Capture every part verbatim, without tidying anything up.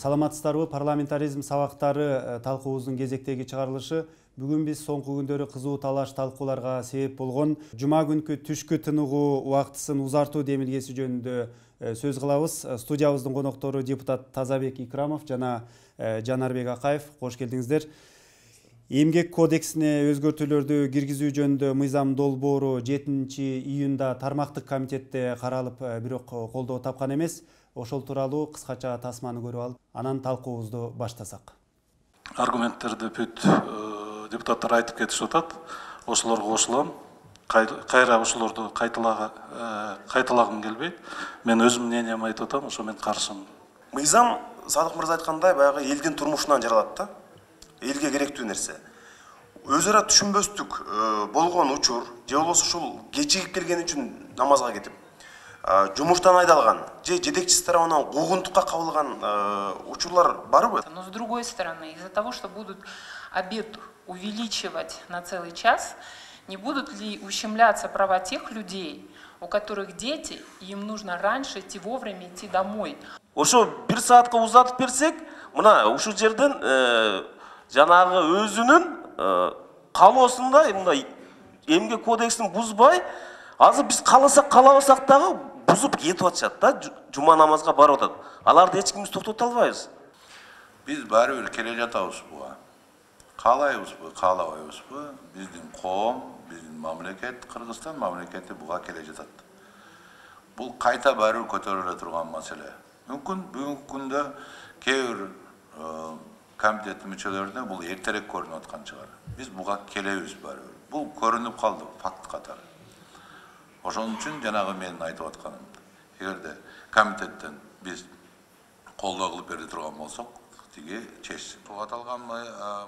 Саламатсыздарбы, парламентаризм сабактары талкуубуздун кезектеги чыгарылышы бүгүн биз соңку күндөрү кызуу талаш талкууларга себеп болгон жума күнкү түшкү тыныгуу убактысын узартуу демилгеси жөнүндө сөз кылабыз. Студиябыздын коноктору депутат Тазабек Икрамов жана Жанарбек Акаев. Кош келдиңиздер. Эмгек кодексине өзгөртүүлөрдү киргизүү жөнүндө мыйзам долбоору жетинчи июнда тармактык комитетте каралып, бирок колдоо тапкан эмес. Ошол тууралуу кыскача тасманы көрүп алып, анан талкуубузду баштасак. Аргументтерди бүт депутаттар айтып кетишип атат. Ошолорго кошулам. Кайра ошолорду кайталагым келбейт. Мен өзүм мнением айтып атам, ошо мен каршымын. Мыйзам Садык мырза айткандай баягы элдин турмушунан жаралат да. Элге керектүү нерсе. Өз ара түшүнбөстүк болгон учур, же болбосо ушул кечигип келген үчүн намазга кетип, жумуштан айдалган, же жетекчиси тарабынан куугунтукка кабылган учурлар барбы? Но с другой стороны, из-за того, что будут обед увеличивать на целый час, не будут ли ущемляться права тех людей, у которых дети, и им нужно раньше идти вовремя идти домой? Ошо бир саатка узатып берсек, мына ушул жерден жанагы өзүнүн калоосунда мындай эмгек кодексин бузбай, азыр биз кааласак каалабасак дагы бузуп кетип атышат да, жума намазга барып атат. Аларды эч кимибиз токтото албайбыз. Биз баары бир келе жатабыз буга. Каалайбызбы, каалабайбызбы, биздин коом, биздин мамлекет, Кыргызстан мамлекети буга келе жатат. Бул кайта баары бир көтөрүлө турган маселе. Мүмкүн бүгүнкү күндө кээ бир комитеттин мүчөлөрүнө бул эртерээк көрүнүп аткан чыгар. Биз буга келебиз баары бир. Бул көрүнүп калды факт катары. Ошон үчүн жанагы менин айтып атканым, эгерде комитеттен биз колдоо кылып бере турган болсок, тиги чечсин. Аталган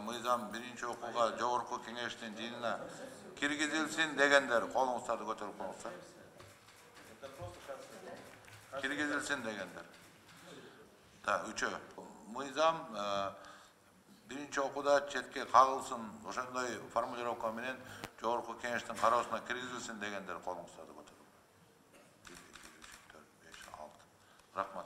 мыйзам биринчи окууга жогорку кеңештин жыйынына киргизилсин дегендер, колуңуздарды көтөрүп коюңуздар. Киргизилсин дегендер. Да, үчөө. Мыйзам биринчи окууда четке кагылсын, ошондой формулировка менен жогорку кеңештин кароосуна киргизилсин дегендер, колуңуздарды көтөрүп. Рахмат.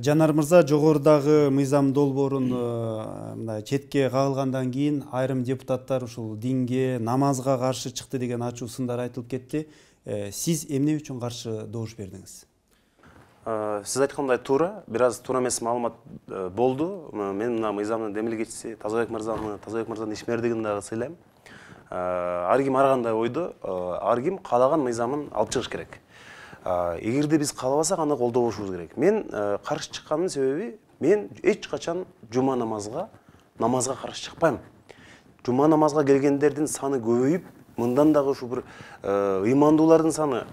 Жанар мырза, жогорудагы мыйзам долбоорун мындай четке кагылгандан кийин айрым депутаттар ушул динге, намазга каршы чыкты деген ачуу сындар айтылып кетти. Сиз эмне үчүн каршы добуш бердиңиз? Сиз айткандай туура, бир аз туура эмес маалымат болду. Мен мына мыйзамдын демилгечиси Тазабек мырзаны, Тазабек мырзанын ишмердигин дагы сыйлайм. Ар ким ар кандай ойдо, ар ким каалаган мыйзамын алып чыгыш керек. Эгерде биз каалабасак, аны колдобошубуз керек. Мен каршы чыккандын себеби, мен эч качан жума намазга, намазга каршы чыкпайм. Жума намазга келгендердин саны көбөйүп, мындан дагы ушу бир ыймандуулардын саны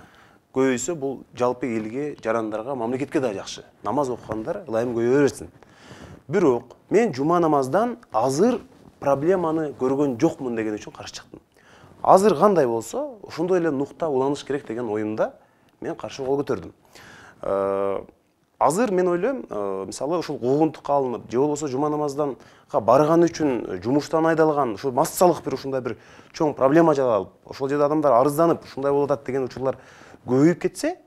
көбөйсө, бул жалпы элге, жарандарга, мамлекетке да жакшы. Намаз окугандар ылайым көбөйө берсин. Бирок мен жума намаздан азыр проблеманы көргөн жокмун деген үчүн каршы чыктым. Азыр кандай болсо, ошондой эле нукта уланыш керек деген оюмда мен каршы кол көтөрдүм. Азыр мен ойлойм, мисалы ушул куугунтукка алынып, же болбосо жума намаздан барган үчүн жумуштан айдалган, ушул массалык бир ушундай бир чоң проблема жаралып, ошол жерде адамдар арызданып, ушундай болуп атат деген учурлар көбөйүп кетсе,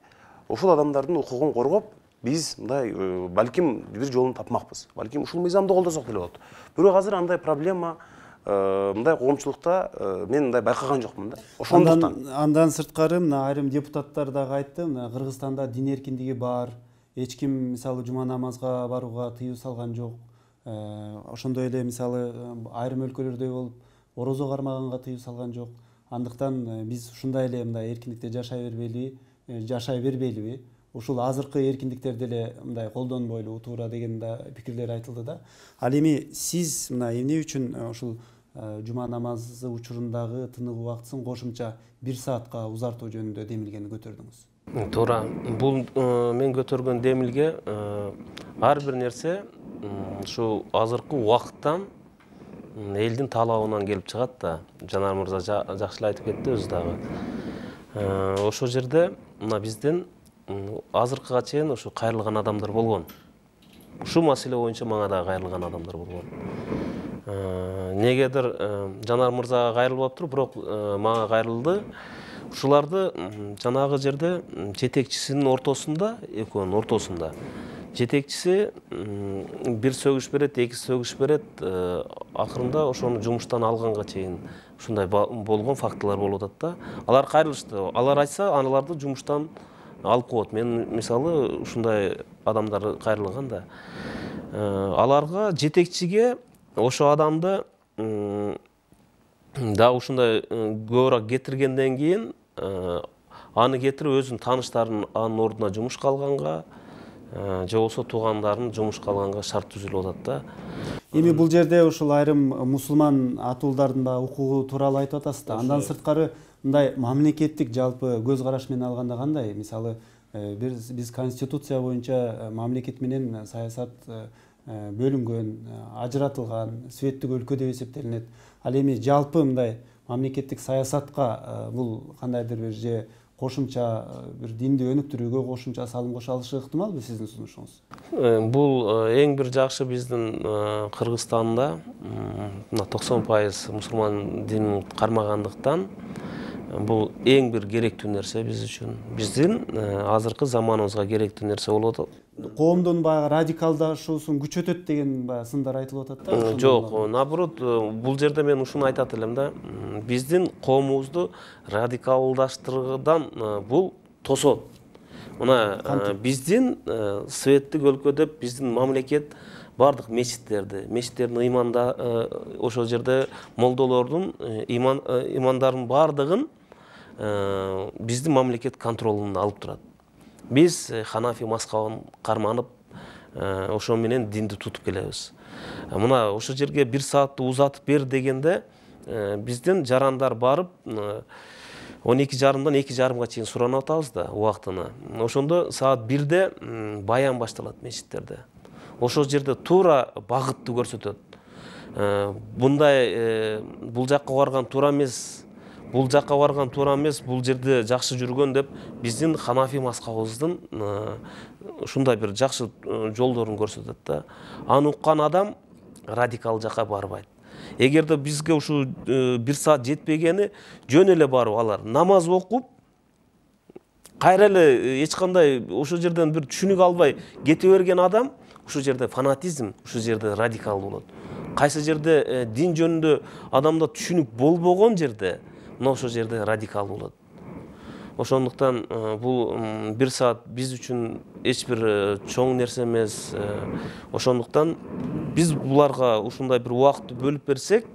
ошол адамдардын укугун коргоп, биз мындай балким бир жолун тапмакпыз. Балким ушул мыйзамды колдосок деле болот. Бирок азыр андай проблема мындай коомчулукта мен мындай байкаган жокмун да. Ошондуктан андан сырткары мына айрым депутаттар дагы айтты, мына Кыргызстанда дин эркиндиги бар. Эч ким мисалы жума намазга барууга тыюу салган жок. Ошондой эле мисалы айрым өлкөлөрдөй болуп, орозо кармаганга тыюу салган жок. Андыктан биз ушундай эле мындай эркиндикте жашай бербейли, жашай бербейлиби? Ушул азыркы эркиндиктерди эле мындай колдонбойлу, туура деген да пикирлер айтылды да. Ал эми сиз мына эмне үчүн ушул жума намазы учурундагы тынык убактысын кошумча бир саатка узартуу жөнүндө демилгени көтөрдүңүз? Туура. Бул мен көтөргөн демилге ар бир нерсе ушу азыркы убакыттан элдин талабынан келип чыгат да. Жанар мырза жакшылап айтып кетти өзү дагы. Ошол жерде мына биздин азыркыга чейин ушу кайрылган адамдар болгон. Ушул маселе боюнча мага да кайрылган адамдар болгон. Негедир Жанар мырзага кайрылып атыптыр, бирок мага кайрылды. Ушуларды жанагы жерде жетекчисинин ортосунда, экөөнүн ортосунда жетекчиси бир сөгүш берет, эки сөгүш берет, акырында ошону жумуштан алганга чейин ушундай болгон фактылар болуп атат да. Алар кайрылышты. Алар айтса, аларды жумуштан алып коет. Мен мисалы ушундай адамдар кайрылган да. Аларга жетекчиге ошо адамды да ушундай көбүрөөк кетиргенден кийин аны кетирип өзүнүн тааныштарын анын ордуна жумушка алганга же болбосо туугандарынын жумушка алганга шарт түзүлүп атат да. Эми бул жерде ушул айрым мусулман атуулардын да укугу тууралуу айтып атасыз да. Андан сырткары мындай мамлекеттик жалпы көз караш менен алганда кандай? Мисалы биз биз конституция боюнча мамлекет менен саясат бөлүнгөн, ажыратылган, светтик өлкө деп эсептелинет. Ал эми жалпы мындай мамлекеттик саясатка бул кандайдыр бир же кошумча бир динди өнүктүрүүгө кошумча салым кошо алышы ыктымалбы сиздин сунушуңуз? Бул эң бир жакшы биздин Кыргызстанда мына токсон пайыз мусулман динин кармагандыктан бул эң бир керектүү нерсе биз үчүн. Биздин азыркы заманыбызга керектүү нерсе болуп атат. Коомдун баягы радикалдашуусун күчөтөт деген баягы сындар айтылып атат да. Жок, наоборот, бул жерде мен ушуну айтат элем да. Биздин коомубузду радикалдаштыруудан бул тосот. Мына биздин светтик өлкө деп биздин мамлекет бардык мечиттерди, мечиттердин ыйманда ошол жерде молдолордун ыймандарынын бардыгын биздин мамлекет контролуна алып турат. Биз ханафи мазхабын карманып, ошо менен динди тутуп келебиз. Мына ошол жерге бир саатты узатып бер дегенде биздин жарандар барып он эки жарымдан эки жарымга чейин суранып атабыз да убактыны. Ошондо саат бирде баян башталат мечиттерде. Ошол жерде туура багытты көрсөтөт. Мындай бул жакка барган туура эмес, бул жакка барган туура эмес, бул жерде жакшы жүргөн деп биздин ханафи мазхабыбыздын ушундай бир жакшы жолдорун көрсөтөт да. Аны уккан адам радикал жакка барбайт. Эгерде бизге ушу бир саат жетпегени жөн эле барып алар намаз окуп, кайра эле эч кандай ошол жерден бир түшүнүк албай кете берген адам ушул жерде фанатизм, ушул жерде радикал болот. Кайсы жерде дин жөнүндө адамда түшүнүк болбогон жерде мына ошол жерде радикал болот. Ошондуктан бул бир саат биз үчүн эч бир чоң нерсе эмес. Ошондуктан биз буларга ушундай бир убакытты бөлүп берсек,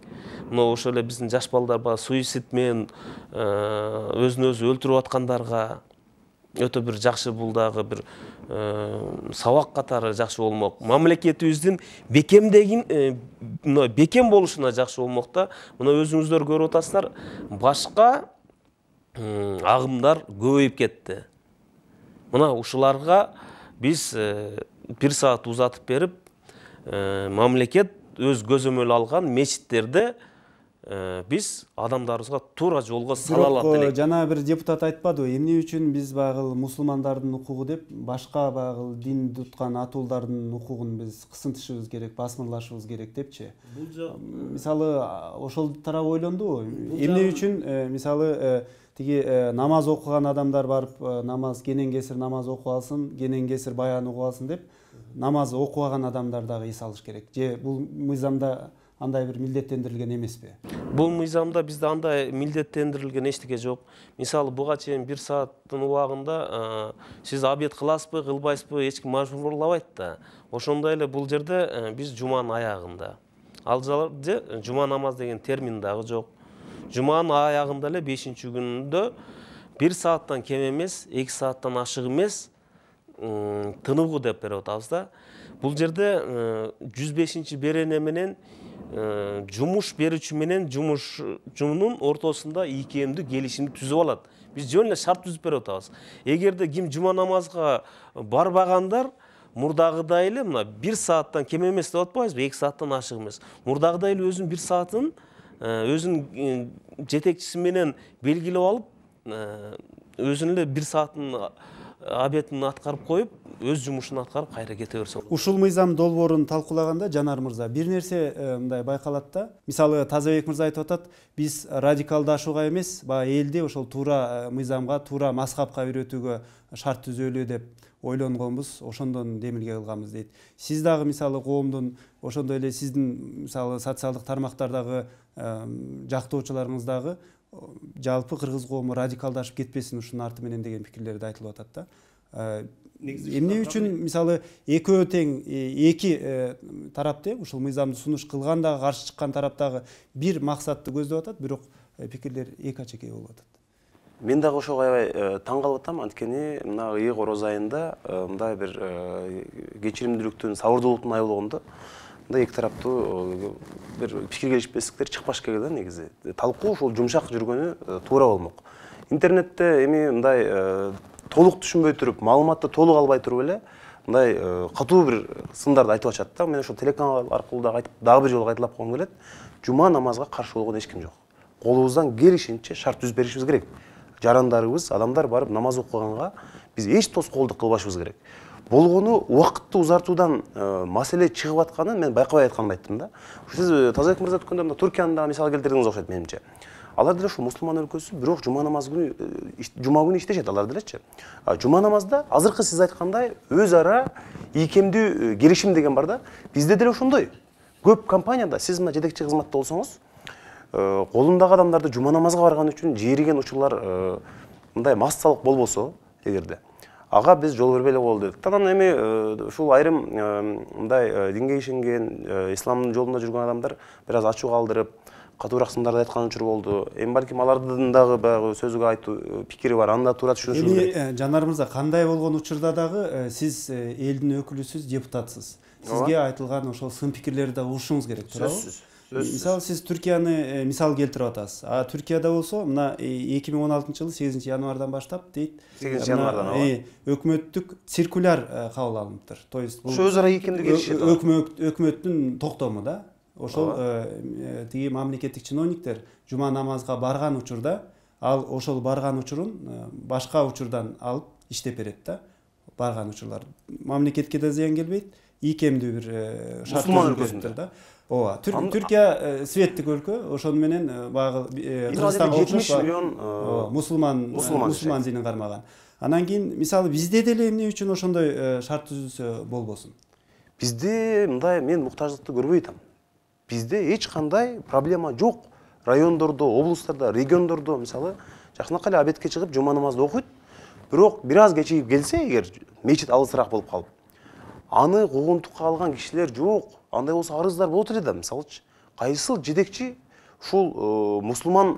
мына ошол эле биздин жаш балдар бар суицид менен өзүн өзү өлтүрүп аткандарга өтө бир жакшы бул дагы бир сабак катары жакшы болмок. Мамлекетибиздин бекемдегин мына бекем болушуна жакшы болмок да. Мына өзүңүздөр көрүп атасыздар, башка агымдар көбөйүп кетти. Мына ушуларга биз бир саат узатып берип, мамлекет өз көзөмөл алган мечиттерде биз адамдарыбызга туура жолго сала алат элек. Жана бир депутат айтпадыбы, эмне үчүн биз баягы мусулмандардын укугу деп башка баягы дин туткан атуулардын укугун биз кысынтышыбыз керек, басмырлашыбыз керек депчи. Мисалы ошол тарап ойлондубу? Эмне үчүн мисалы тиги намаз окуган адамдар барып намаз кенен кесир намаз окуп алсын, кенен кесир баян окуп алсын деп намаз окубаган адамдар дагы эс алыш керек. Же бул мыйзамда андай бир милдеттендирилген эмеспи? Бул мыйзамда бизде андай милдеттендирилген эчтеке жок. Мисалы буга чейин бир сааттын убагында сиз обед кыласызбы, кылбайсызбы, эч ким мажбурлабайт да. Ошондой эле бул жерде биз жуманын аягында. Ал жерде жума намаз деген термин дагы жок. Жуманын аягында эле бешинчи күндө бир сааттан кем эмес, эки сааттан ашык эмес тыныгуу деп берип атабыз да. Бул жерде жүз бешинчи берене менен жумуш берүүчү менен жумушчунун ортосунда ийкемдүү келишимди түзүп алат. Биз жөн эле шарт түзүп берип атабыз. Эгерде ким жума намазга барбагандар мурдагыдай эле мына бир сааттан кем эмес деп атпайбызбы, эки сааттан ашык эмес. Мурдагыдай эле өзүнүн бир саатын өзүнүн жетекчиси менен белгилеп алып, өзүнүн эле бир саатын обетин аткарып коюп, өз жумушун аткарып кайра кете берсе. Ушул мыйзам долбоорун талкуулаганда Жанар мырза бир нерсе мындай байкалат да. Мисалы Тазабек мырза айтып атат, биз радикалдашууга эмес, баягы элди ошол туура мыйзамга, туура мазхабка үйрөтүүгө шарт түзөлү деп ойлонгонбуз, ошондон демилге кылганбыз дейт. Сиз дагы мисалы коомдун, ошондой эле сиздин мисалы социалдык тармактардагы жактоочуларыңыз дагы жалпы кыргыз коому радикалдашып кетпесин ушунун арты менен деген пикирлерди айтылып атат да. Эмне үчүн мисалы экөө тең эки тарап тең ушул мыйзамды сунуш кылган дагы каршы чыккан тараптагы бир максатты көздөп атат, бирок пикирлер эки ачекей болуп атат. Мен дагы ошого аябай таң калып атам, анткени мына ый короз айында мындай бир кечиримдүүлүктүн, сабырдуулуктун айы болгондо мындай эки тараптуу бир пикир келишпестиктер чыкпаш керек да негизи. Талкуу ушул жумшак жүргөнү туура болмок. Интернетте эми мындай толук түшүнбөй туруп, маалыматты толук албай туруп эле мындай катуу бир сындарды айтып атышат да. Мен ошол телеканал аркылуу дагы айтып, дагы бир жолу кайталап койгум келет. Жума намазга каршы болгон эч ким жок. Колубуздан келишинче шарт түзүп беришибиз керек. Жарандарыбыз, адамдар барып намаз окуганга биз эч тоскоолдук кылбашыбыз керек. Болгону убакытты узартуудан маселе чыгып атканын мен байкабай айтканымды айттым да. Сиз Тазабек мырза өткөндө мына Түркияны дагы мисал келтирдиңиз окшойт менимче. Алар деле ушу мусулман өлкөсү, бирок жума намаз күнү, жума күнү иштешет алар делечи. Жума намазда азыркы сиз айткандай өз ара ийкемдүү келишим деген бар да. Бизде деле ошондой. Көп компанияда сиз мына жетекчи кызматта болсоңуз, колундагы адамдарды жума намазга барган үчүн жийриген учурлар мындай массалык болбосо, эгерде ага биз жол бербей эле коелу дедик. Анан эми ушул айрым мындай динге ишенген, исламдын жолунда жүргөн адамдар бир аз ачуу калтырып, катуураак сындарды айткан учур болду. Эми балким алардын дагы баягы сөзгө айтуу пикири бар, аны да туура түшүнүшүбүз керек. Эми Жанар мырза, кандай болгон учурда дагы сиз элдин өкүлүсүз, депутатсыз. Сизге айтылган ошол сын пикирлерди да угушуңуз керек, туурабы? Сөзсүз. Мисалы сиз Түркияны мисал келтирип атасыз. А Түркияда болсо мына эки миң он алтынчы жылы сегизинчи январдан баштап дейт. сегизинчи январдан ооба. Өкмөттүк циркуляр кабыл алыныптыр. То есть бул ошо өз ара ийкемдүү келишет. Өкмөттүн токтому да. Ошол тиги мамлекеттик чиновниктер жума намазга барган учурда, ал ошол барган учурун башка учурдан алып иштеп берет да. Барган учурлар мамлекетке да зыян келбейт, ийкемдүү бир шарт түзүлөт да. Ооба, Түркия светтик өлкө, ошону менен баягы Кыргызстанга жетимиш миллион мусулман мусулман динин кармаган. Анан кийин мисалы бизде деле эмне үчүн ошондой шарт түзүлсө болбосун? Бизде мындай мен муктаждыкты көрбөй атам. Бизде эч кандай проблема жок. Райондордо, облустарда, региондордо мисалы жакшынакай эле обедке чыгып жума намазды окуйт. Бирок бир аз кечигип келсе, эгер мечит алысыраак болуп калып, аны куугунтукка алган кишилер жок. Андай болсо арыздар болот эле да, мисалычы. Кайсыл жетекчи ушул мусулман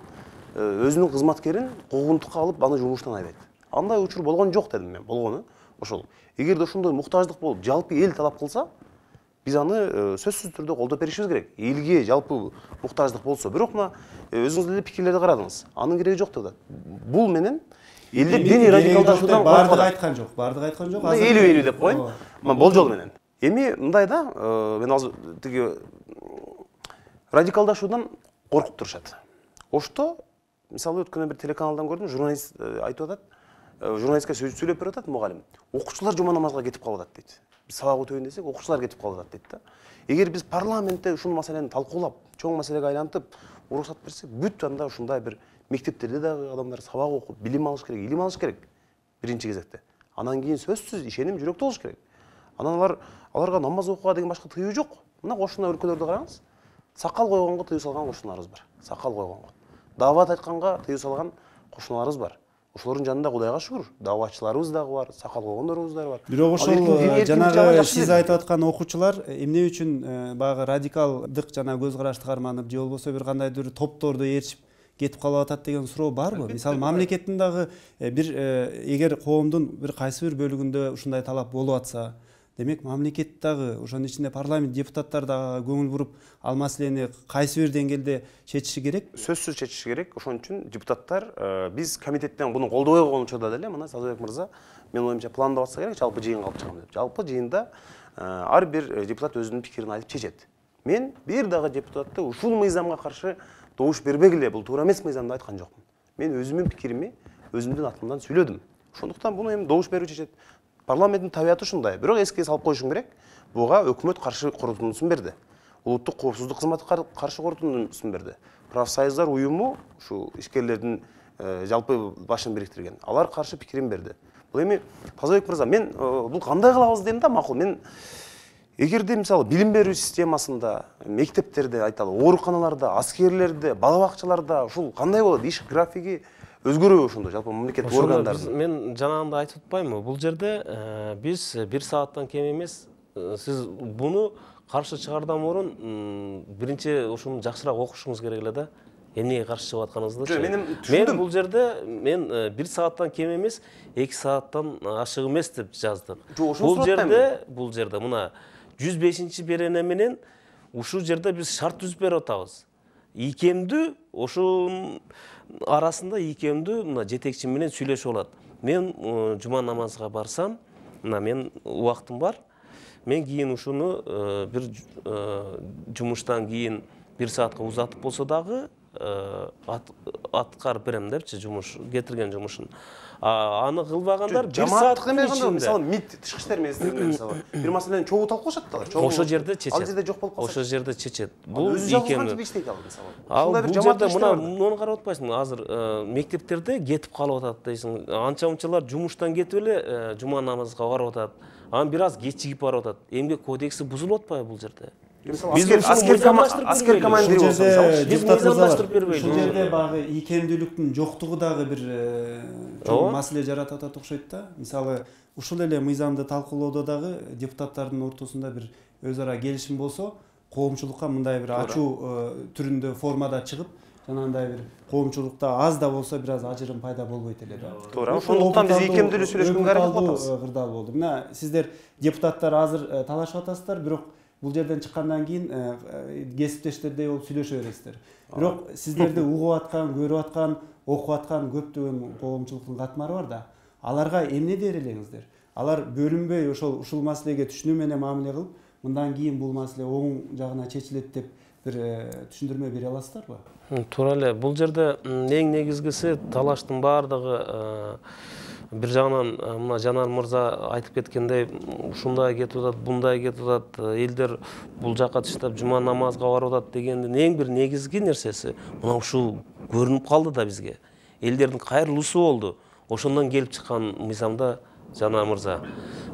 өзүнүн кызматкерин куугунтукка алып, аны жумуштан айдайт. Андай учур болгон жок дедим мен, болгону ошол. Эгерде ошондой муктаждык болуп, жалпы эл талап кылса, биз аны сөзсүз түрдө колдоп беришибиз керек. Элге жалпы муктаждык болсо, бирок мына өзүңүз деле пикирлерди карадыңыз. Анын кереги жок деп атат. Бул менен элди диний радикалдашуудан бардыгы айткан жок, бардыгы айткан жок. Элүү-элүү деп коеюн. Болжол менен. Эми мындай да, мен азыр тиги радикалдашуудан коркуп турушат. Ошто мисалы өткөндө бир телеканалдан көрдүм, журналист айтып атат, журналистке сүйлөп берип атат мугалим. Окуучулар жума намазга кетип калып атат дейт. Биз сабак өтөйүн десек, окуучулар кетип калып атат дейт да. Эгер биз парламентте ушул маселени талкуулап, чоң маселеге айлантып, уруксат берсек, бүт анда ушундай бир мектептерде дагы адамдар сабак окуп, билим алыш керек, илим алыш керек биринчи кезекте. Анан кийин сөзсүз ишеним жүрөктө болуш керек. Анан алар аларга намаз окууга деген башка тыюу жок. Мына кошуна өлкөлөрдү караңыз. Сакал койгонго тыюу салган кошуналарыбыз бар. Сакал койгонго. Даават айтканга тыюу салган кошуналарыбыз бар. Ошолордун жанында Кудайга шүгүр, дааватчыларыбыз дагы бар, сакал койгондорубуз дагы бар. Бирок ошол жанагы сиз айтып аткан окуучулар эмне үчүн баягы радикалдык жана көз карашты карманып, же болбосо бир кандайдыр топторду ээрчип кетип калып атат деген суроо барбы? Мисалы мамлекеттин дагы бир эгер коомдун бир кайсы бир бөлүгүндө ушундай талап болуп атса, демек мамлекет дагы ошонун ичинде парламент депутаттар дагы көңүл буруп, ал маселени кайсы бир деңгээлде чечиши керек? Сөзсүз чечиши керек. Ошон үчүн депутаттар биз комитеттен буну колдобой койгон учурда деле мына Тазабек мырза мен оюмча пландап атса керек, жалпы жыйынга алып чыгам деп. Жалпы жыйында ар бир депутат өзүнүн пикирин айтып чечет. Мен бир дагы депутатты ушул мыйзамга каршы добуш бербегиле, бул туура эмес мыйзам деп айткан жокмун. Мен өзүмдүн пикирими өзүмдүн атымдан сүйлөдүм. Ошондуктан буну эми добуш берүү чечет. Парламенттин табияты ушундай. Бирок эске салып коюшум керек. Буга өкмөт каршы корутундусун берди. Улуттук коопсуздук кызматы каршы корутундусун берди. Профсоюздар уюму ушу ишкерлердин жалпы башын бириктирген. Алар каршы пикирин берди. Бул эми Тазабек мырза, мен бул кандай кылабыз дейм да, макул. Мен эгерде мисалы билим берүү системасында, мектептерде айталы, ооруканаларда, аскерлерде, бала бакчаларда ушул кандай болот? Иш графиги өзгөрөбү ошондо жалпы мамлекеттик органдардын? Мен жанагындай айтып атпаймынбы? Бул жерде биз бир сааттан кем эмес, сиз буну каршы чыгардан мурун биринчи ушуну жакшыраак окушуңуз керек эле да. Эмнеге каршы чыгып атканыңыздычы? Мен бул жерде мен бир сааттан кем эмес, эки сааттан ашык эмес деп жаздык. Бул жерде, бул жерде мына жүз бешинчи берене менен ушул жерде биз шарт түзүп берип атабыз. Ийкемдүү ошонун арасында ийкемдүү мына жетекчи менен сүйлөшүп алат. Мен жума намазга барсам, мына мен убактым бар. Мен кийин ушуну бир жумуштан кийин бир саатка узатып болсо дагы аткарып берем депчи, жумуш кетирген жумушун. Аны кылбагандар бир сааттын ичинде. Мисалы МИД тышкы иштер министрлигинде мисалы бир маселени чогуу талкуулашат да алар. Ошол жерде чечет. Ал жерде жок болуп калса. Ошол жерде чечет. Бул ийкемдүү иштейт ал мисалы. Ал бул жерде мына муну карап атпайсыңбы? Азыр мектептерде кетип калып атат дейсиң. Анча-мунчалар жумуштан кетип эле жума намазга барып атат. Анан бир аз кечигип барып атат. Эмгек кодекси бузулуп атпайбы бул жерде? Аскер командири болсо, ушул жерде баягы ийкемдүүлүктүн жоктугу дагы бир чоң маселе жаратып атат окшойт да. Мисалы, ушул эле мыйзамды талкуулоодо дагы депутаттардын ортосунда бир өз ара келишим болсо, коомчулукка мындай бир ачуу түрүндө формада чыгып, жанагындай бир коомчулукта аз да болсо бир аз ажырым пайда болбойт эле да. Туура. Ошондуктан биз ийкемдүүлүк сүйлөшкөнгө аракет кылып атабыз. Кырдаал болду. Мына сиздер депутаттар азыр талашып атасыздар, бирок бул жерден чыккандан кийин кесиптештердей болуп сүйлөшө бересиздер. Бирок сиздерди угуп аткан, көрүп аткан, окуп аткан көптөгөн коомчулуктун катмары бар да. Аларга эмне дер элеңиздер? Алар бөлүнбөй ошол ушул маселеге түшүнүү менен мамиле кылып, мындан кийин бул маселе оң жагына чечилет деп бир түшүндүрмө бере аласыздарбы? Туура эле. Бул жерде эң негизгиси талаштын баардыгы бир жагынан мына Жанар мырза айтып кеткендей, ушундай кетип атат, бундай кетип атат, элдер бул жакка тыштап жума намазга барып атат дегендин эң бир негизги нерсеси мына ушул көрүнүп калды да бизге. Элдердин кайрылуусу болду. Ошондон келип чыккан мыйзамда Жанар мырза.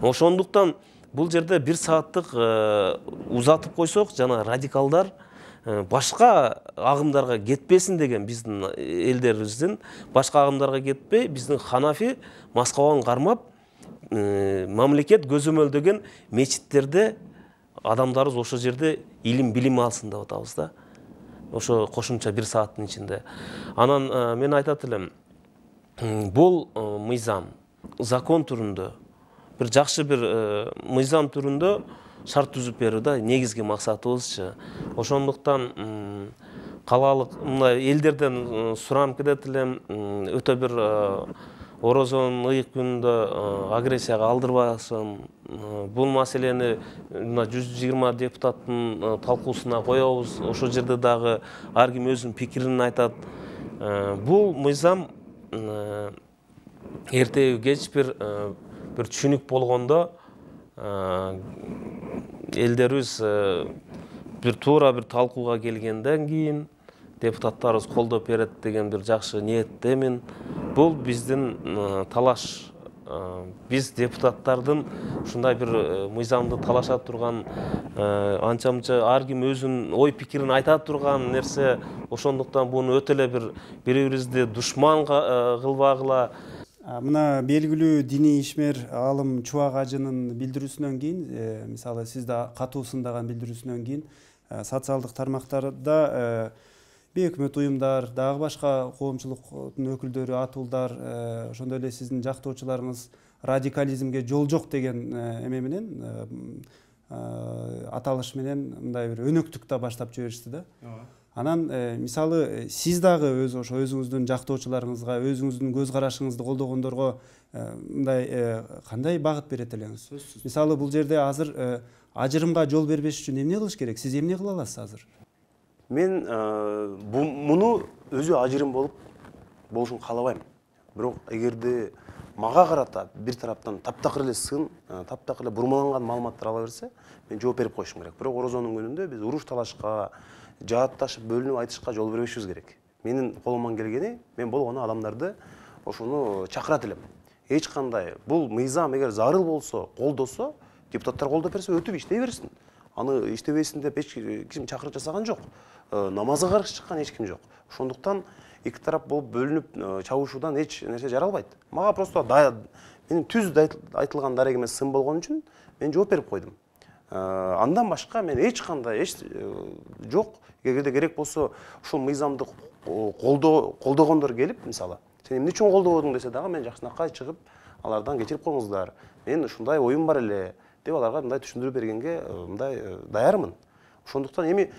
Ошондуктан бул жерде бир сааттык узатып койсок, жана радикалдар башка агымдарга кетпесин деген биздин элдерибиздин башка агымдарга кетпей, биздин Ханафи маскабан кармап, мамлекет көзөмөлдөгөн мечиттерде адамдарыбыз ошол жерде илим билим алсын деп атабыз да. Ошо кошумча бир сааттын ичинде. Анан мен айтат элем, бул мыйзам закон түрүндө, бир жакшы бир мыйзам түрүндө шарт түзүп берүү да негизги максатыбызчы. Ошондуктан калаалык мындай элдерден суранып кетет элем, өтө бир орозонун ыйык күнүндө агрессияга алдырбасын. Бул маселени мына жүз жыйырма депутаттын талкуусуна коебуз. Ошол жерде дагы ар ким өзүнүн пикирин айтат. Бул мыйзам эртеби кеч бир бир түшүнүк болгондо элдерибиз бир туура бир талкууга келгенден кийин депутаттарыбыз колдоп берет деген бир жакшы ниеттемин. Бул биздин талаш. Биз депутаттардын ушундай бир мыйзамды талаша турган, анча-мынча ар ким өзүнүн ой пикирин айта турган нерсе. Ошондуктан буну өтө эле бир бири-бирибизди душман кылбагыла. Мына белгилүү диний ишмер алым Чубак ажынын билдирүүсүнөн кийин, мисалы сиз да катуу сындаган билдирүүсүнөн кийин, социалдык тармактарда бейөкмөт уюмдар, дагы башка коомчулуктун өкүлдөрү, атуулдар, ошондой эле сиздин жактоочуларыңыз радикализмге жол жок деген эме менен, аталыш менен мындай бир өнөктүк да баштап жиберишти да. Анан мисалы сиз дагы өз ошо өзүңүздүн жактоочуларыңызга, өзүңүздүн көз карашыңызды колдогондорго мындай кандай багыт берет элеңиз? Мисалы бул жерде азыр ажырымга жол бербеш үчүн эмне кылыш керек? Сиз эмне кыла аласыз азыр? Мен муну өзү ажырым болуп болушун каалабайм. Бирок эгерде мага карата бир тараптан таптакыр эле сын, таптакыр эле бурмаланган маалыматтар ала берсе, мен жооп берип коюшум керек. Бирок орозонун күнүндө биз уруш талашка, жаатташып, бөлүнүп айтышка жол бербешибиз керек. Менин колуман келгени, мен болгону адамдарды ошону чакырат элем. Эч кандай бул мыйзам эгер зарыл болсо, колдосо, депутаттар колдоп берсе өтүп иштей берсин. Аны иштебесин деп эч ким чакырып жасаган жок. Намазга каршы чыккан эч ким жок. Ошондуктан эки тарап болуп бөлүнүп чабышуудан эч нерсе жаралбайт. Мага просто менин түз айтылган дарек эмес сын болгон үчүн мен жооп берип койдум. Андан башка мен эч кандай эч жок. Эгерде керек болсо ушул мыйзамды колдогондор келип, мисалы, сен эмне үчүн колдободуң десе дагы мен жакшынакай чыгып, алардан кечирип коюңуздар. Мен ушундай оюм бар эле деп аларга мындай түшүндүрүп бергенге мындай даярмын. Ошондуктан эми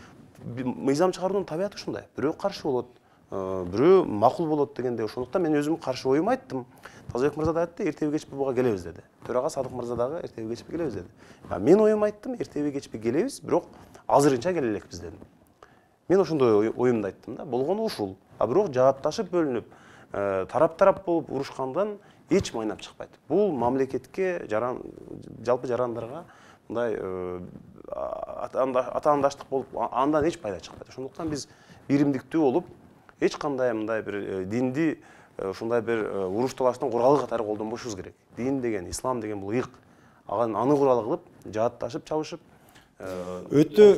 мыйзам чыгаруунун табияты ушундай. Бирөө каршы болот, бирөө макул болот дегенде, ошондуктан мен өзүм каршы оюмду айттым. Тазабек мырза да айтты, эртеби кечпи буга келебиз деди. Төрага Садык мырза дагы эртеби кечпи келебиз деди. Мен оюмду айттым, эртеби кечпи келебиз, бирок азырынча келе элекпиз дедим. Мен ошондой оюмду айттым да, болгону ушул. А бирок жаатташып бөлүнүп, тарап-тарап болуп урушкандан эч майнап чыкпайт. Бул мамлекетке, жалпы жарандарга мындай атаандаштык болуп, андан эч пайда чыкпайт. Ошондуктан биз биримдиктүү болуп, эч кандай мындай бир динди ушундай бир уруш талаштын куралы катары колдонбошубуз керек. Дин деген, ислам деген бул ыйык. Аны курал кылып, жаатташып, чабышып, өтө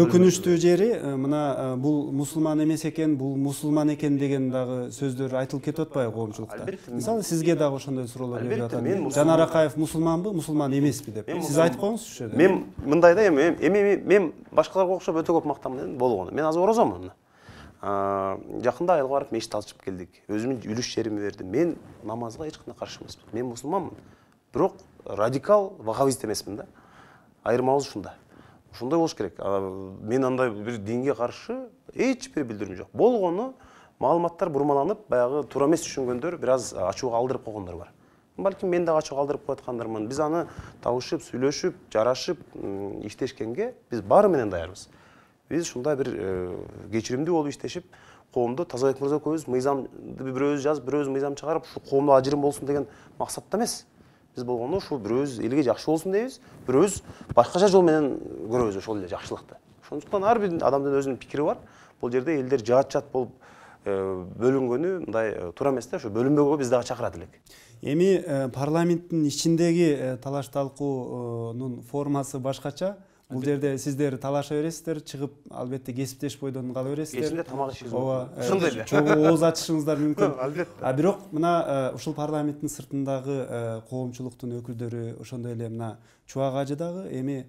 өкүнүчтүү жери мына бул мусулман эмес экен, бул мусулман экен деген дагы сөздөр айтылып кетип атпайбы коомчулукта? Мисалы, сизге дагы ошондой суроолор келип атат. Жанар Акаев мусулманбы, мусулман эмеспи деп. Сиз айтып коюңузчу ошол жерде. Мен мындай да эми эми мен башкаларга окшоп өтө көп мактанам болгону. Мен азыр орозомун. Жакында айылга барып мешит ачып келдик. Өзүмдүн үлүш жеримди бердим. Мен намазга эч кандай каршы эмесмин. Мен мусулманмын. Бирок радикал ваххабист эмесмин да. Айырмабыз ушунда. Ушундай болуш керек. Мен андай бир динге каршы эч бир билдирүүм жок. Болгону маалыматтар бурмаланып, баягы туура эмес түшүнгөндөр бир аз ачууга алдырып койгондор бар. Балким мен дагы ачууга алдырып кояткандармын. Биз аны табышып, сүйлөшүп, жарашып, иштешкенге биз баары менен даярбыз. Биз ушундай бир кечиримдүү болуп иштешип, коомдо Тазабек мырза көбүз мыйзамды бирөөбүз жазып, бирөөбүз мыйзам чыгарып, ушу коомдо ажырым болсун деген максатта эмес. Биз болгону ушул бирөөбүз элге жакшы болсун дейбиз, бирөөбүз башкача жол менен көрөбүз ошол эле жакшылыкты. Ошондуктан ар бир адамдын өзүнүн пикири бар. Бул жерде элдер жаат-жаат болуп бөлүнгөнү мындай туура эмес да, ошо бөлүнбөгө биз дагы чакырат элек. Эми парламенттин ичиндеги талаш талкуунун формасы башкача. Бул жерде сиздер талаша бересиздер, чыгып албетте кесиптеш бойдон кала бересиздер. Кечинде тамак ишиңиз мүмкүн. Ошондой эле. Чогуу ооз ачышыңыздар мүмкүн. Албетте. А бирок мына ушул парламенттин сыртындагы коомчулуктун өкүлдөрү, ошондой эле мына Чубак ажы дагы эми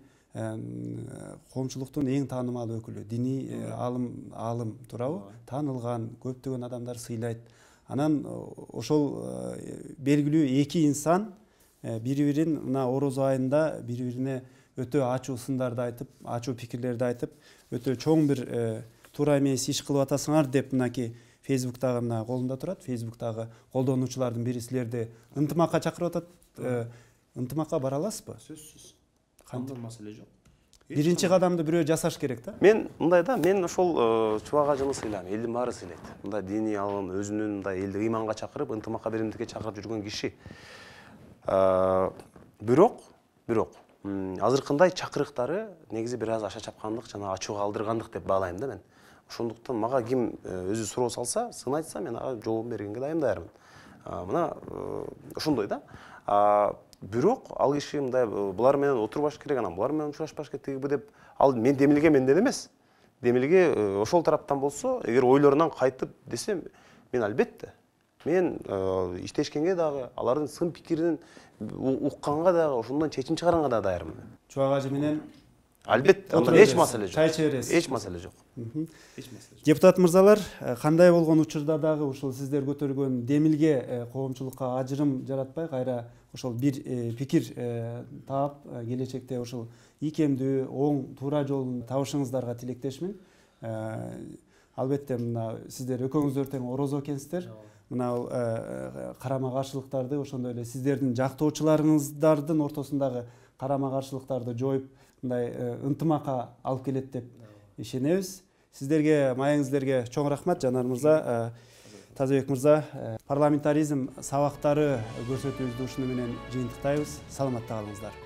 коомчулуктун эң таанымал өкүлү, диний алым алым туурабы? Таанылган, көптөгөн адамдар сыйлайт. Анан ошол белгилүү эки инсан бири-бирин мына орозо айында бири-бирине өтө ачуу сындарды айтып, ачуу пикирлерди айтып, өтө чоң бир туура эмес иш кылып атасыңар деп мынакей Фейсбуктагы мына колунда турат. Фейсбуктагы колдонуучулардын бири силерди ынтымакка чакырып атат. Ынтымакка бара аласызбы? Сөзсүз. Кандай маселе жок. Биринчи кадамды бирөө жасаш керек да. Мен мындай да, мен ошол Чубак ажыны сыйлайм, элдин баары сыйлайт. Мындай диний алым, өзүнүн мындай элди ыйманга чакырып, ынтымакка, биримдикке чакырып жүргөн киши. Бирок, бирок азыркындай чакырыктары негизи бир аз аша чапкандык жана ачууга алдыргандык деп баалайм да мен. Ошондуктан мага ким өзү суроо салса, сын айтса, мен ага жообун бергенге дайым даярмын. Мына ошондой да. Бирок ал киши мындай булар менен отурбаш керек, анан булар менен учурашпаш керек тигиби деп, ал мен демилге менден эмес. Демилге ошол тараптан болсо, эгер ойлорунан кайтып десем, мен албетте мен иштешкенге дагы, алардын сын пикирин укканга дагы, ошондон чечим чыгаганга да даярмын. Чубак ажы менен албетте, эч маселе жок. Чай чебересиз. Эч маселе жок. Эч маселе жок. Депутат мырзалар, кандай болгон учурда дагы ушул сиздер көтөргөн демилге коомчулукка ажырым жаратпай, кайра ошол бир пикир таап, келечекте ошол ийкемдүү, оң, туура жолун табышыңыздарга тилектешмин. Албетте мына сиздер экөөңүздөр тең орозо экенсиздер. Мына карама каршылыктарды, ошондой эле сиздердин жактоочуларыңыздардын ортосундагы карама каршылыктарды жоюп, мындай ынтымакка алып келет деп ишенебиз. Сиздерге, маегиңиздерге чоң рахмат, Жанар мырза. Тазабек мырза, парламентаризм сабактары көрсөтүүбүздү ушуну менен жыйынтыктайбыз. Саламатта калыңыздар.